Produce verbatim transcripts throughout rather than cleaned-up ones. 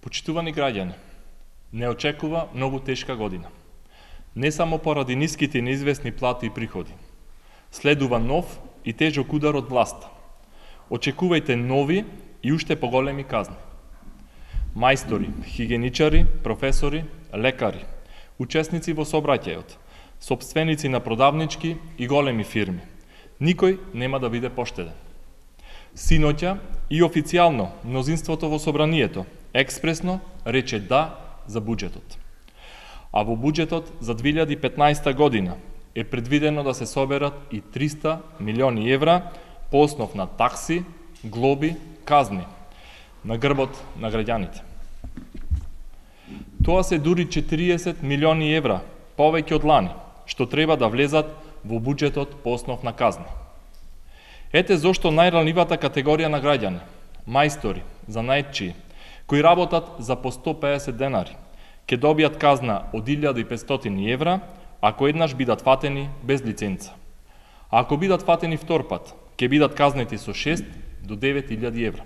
Почитувани граѓани, не очекува многу тешка година. Не само поради ниските и неизвестни плати и приходи. Следува нов и тежок удар од власта. Очекувајте нови и уште поголеми казни. Мајстори, хигиеничари, професори, лекари, учесници во сообраќајот, сопственици на продавнички и големи фирми. Никој нема да биде поштеден. Синоќа и официјално мнозинството во собранието експресно рече да за буџетот. А во буџетот за две илјади и петнаесета година е предвидено да се соберат и триста милиони евра по основ на такси, глоби, казни на грбот на граѓаните. Тоа се дури четириесет милиони евра повеќе од лани, што треба да влезат во буџетот по основ на казни. Ете зошто најранливата категорија на граѓани, мајстори, занаетчии, кои работат за по сто педесет денари, ќе добијат казна од илјада и петстотини евра, ако еднаш бидат фатени без лиценца. А ако бидат фатени втор пат, ќе бидат казнети со шест до девет илјади евра.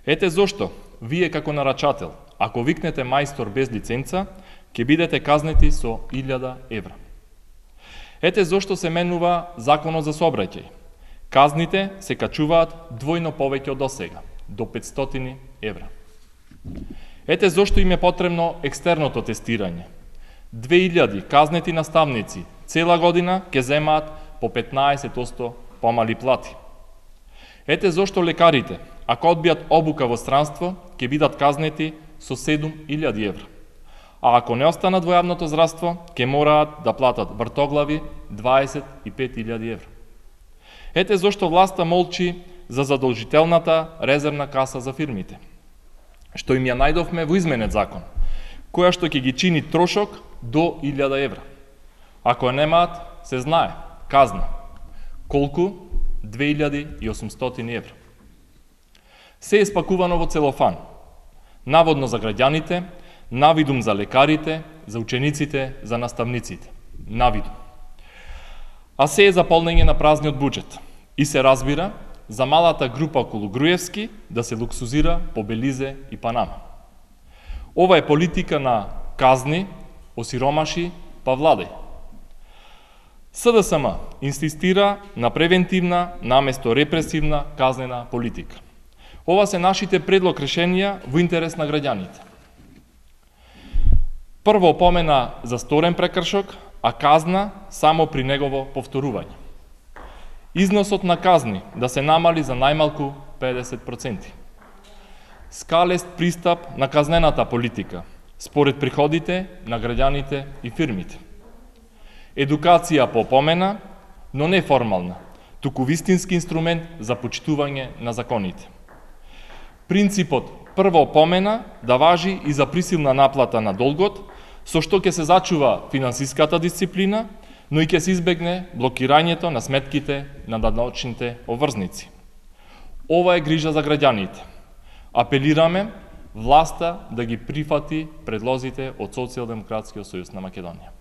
Ете зошто, вие како нарачател, ако викнете мајстор без лиценца, ќе бидете казнети со илјада евра. Ете зошто се менува Законот за сообраќај. Казните се качуваат двојно повеќе од досега, до петстотини евра. Ете зошто им е потребно екстерното тестирање. две илјади казнети наставници цела година ќе земаат по петнаесет одсто помали плати. Ете зошто лекарите, ако одбијат обука во странство, ќе бидат казнети со седум илјади евра. А ако не останат во јавното здравство, ќе мораат да платат вртоглави дваесет и пет илјади евра. Ете зошто власта молчи за задолжителната резервна каса за фирмите, што им ја најдовме во изменет закон, која што ќе ги чини трошок до илјада евра. Ако ја немаат, се знае, казна. Колку? две илјади и осумстотини евра. Се е спакувано во целофан, наводно за граѓаните, навидум за лекарите, за учениците, за наставниците. Навидум. А се е за полнење на празниот буџет. И се разбира за малата група околу Груевски да се луксузира по Белизе и Панама. Ова е политика на казни, осиромаши, па владај. СДСМ инсистира на превентивна наместо репресивна казнена политика. Ова се нашите предлог решенија во интерес на граѓаните. Прво опомена за сторен прекршок, а казна само при негово повторување. Износот на казни да се намали за најмалку педесет проценти. Скалест пристап на казнената политика, според приходите на граѓаните и фирмите. Едукација по опомена, но не формална, туку вистински инструмент за почитување на законите. Принципот прво опомена да важи и за присилна наплата на долгот, со што ќе се зачува финансиската дисциплина, но и ќе се избегне блокирањето на сметките на даночните обврзници. Ова е грижа за граѓаните. Апелираме власта да ги прифати предлозите од Социјалдемократскиот сојуз на Македонија.